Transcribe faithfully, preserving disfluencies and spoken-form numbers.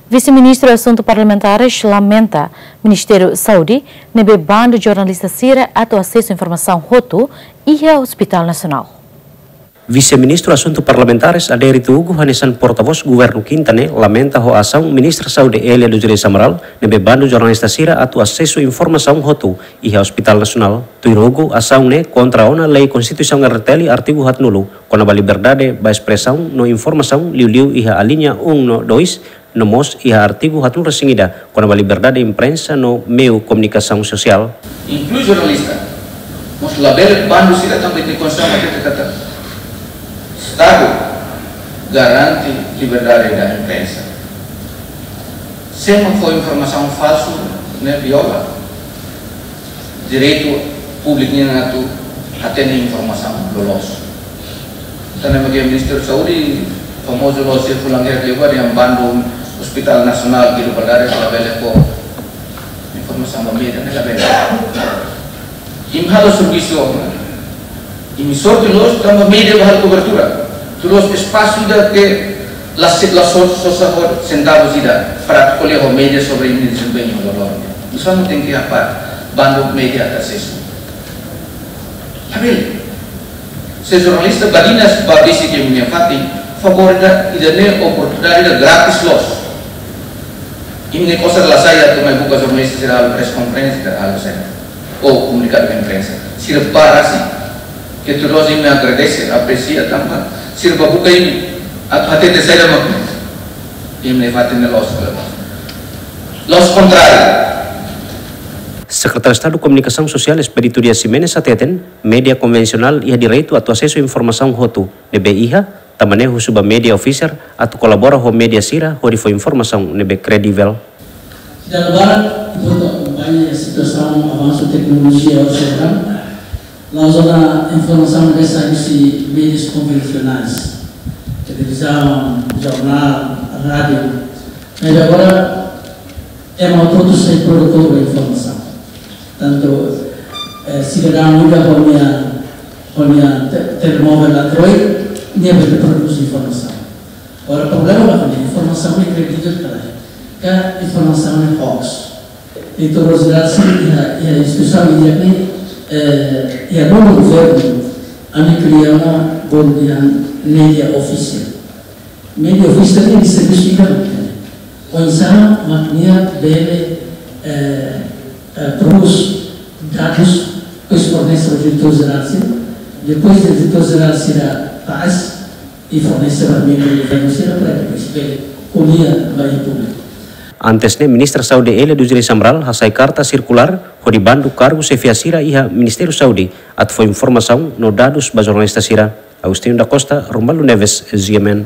Vise-Ministru Asuntu Parlamentares lamenta Ministériu Saúde ne'ebé bandu jornalista sira atu asesu informasaun hotu iha Hospitál Nasionál. Vise-Ministru Asuntu Parlamentares Adérito Hugo hanesan portavós Governu Kinta ne'e lamenta ho asaun Ministra Saúde Elia dos Reis Amaral ne'ebé bandu jornalista sira atu asesu informasaun hotu iha Hospitál Nasionál. Tuir Hugo, asaun ne'e kontra ona Lei Konstituisaun R T L artigu haatnulu, kona-ba liberdade ba espresaun no informasaun, liuliu iha aliña um no dois, no mós iha artigu haatnulu resin ida, kona-ba liberdade imprensa no meiu komunikasaun sosiál. Inklui jornalista, mós labele bandu sira tanba ita konstituisaun hatete katak Estadu garante liberdade da imprensa. Se ema fó informasaun falsu, ne'e viola direitu públiku nian atu hatene informasaun loloos. Tanba ne'e mak Ministériu Saúde famozu loos sira fulan kerak liu ba dehan bandu Hospitál Nasionál, ke liberdade labele fó informasaun ba média, ne'e labele. Imi halo servisu, imi sorte loos tanba média bá halo kobertura. Tuir loos espasu ida ke la se-, la so-, sosa ho sentavus ida para ko'alia ho média sobre imi dezempeñu ho valór. Misaun tenke apa bandu média atu asesu. Labele. Se jornalista badinas ba besik imi-nia fatin, favór ida, ida-ne'e oportunidade ida gratis loos. Imi-nia kosar la sai atu mai buka jornalista sira halo press conference, sira halo sira, ou komunikadu imprensa. Sira bá rasik. Ke tuir loos imi agradese, apresia tanba sira bá buka imi atu hatete saida mak imi-nia fatin ne'e loos, loos. Loos kontráriu. Sekretáriu Estadu Komunikasaun Sosiál Expedito Dias Ximenes hateten, média konvensionál iha direitu atu asesu informasaun hotu ne'ebé iha, tanba ne'e husu ba média ofisiál atu kolabora ho média sira hodi fó informasaun ne'ebé kredivel. Ita labarik, enkuantu akompaña situasaun avansu teknolojia oras agora, la'ós ona informasaun ne'ebé sai husi média konvensionál, televizaun, jornál, rádiu. Mas agora, ema hotu-hotu sai produtór ba informasaun. Tantu, eh, sidadaun ida ho nia, ho nia te-, telemóvel Android, nia bele prodús informasaun. Agora, problema la kona informasaun ne'e kredivel ka lae, ka informasaun ne'e hoax. Diretór Jerál sira iha, iha instituisaun ida-ne'e, eh, iha ruma governu, ami kria ona bolu dehan média ofisiál. Média ofisiál ne'e servisu ida mak ita-nia. Oinsá mak nia bele, eh, eh, prodús dadus, depois fornese ba diretór jerál sira, depois diretór jerál sira tasi, i fornese ba membru governu sira para depois bele ko'alia ba iha públiku. Antes ne'e, Ministra Saúde Elia dos Reis Amaral hasai karta sirkulár hodi bandu kargu xefia sira iha Ministériu Saúde atu fó informasaun no dadus ba jornalista sira. Agostinho da Costa, Romualdo Neves, G M N.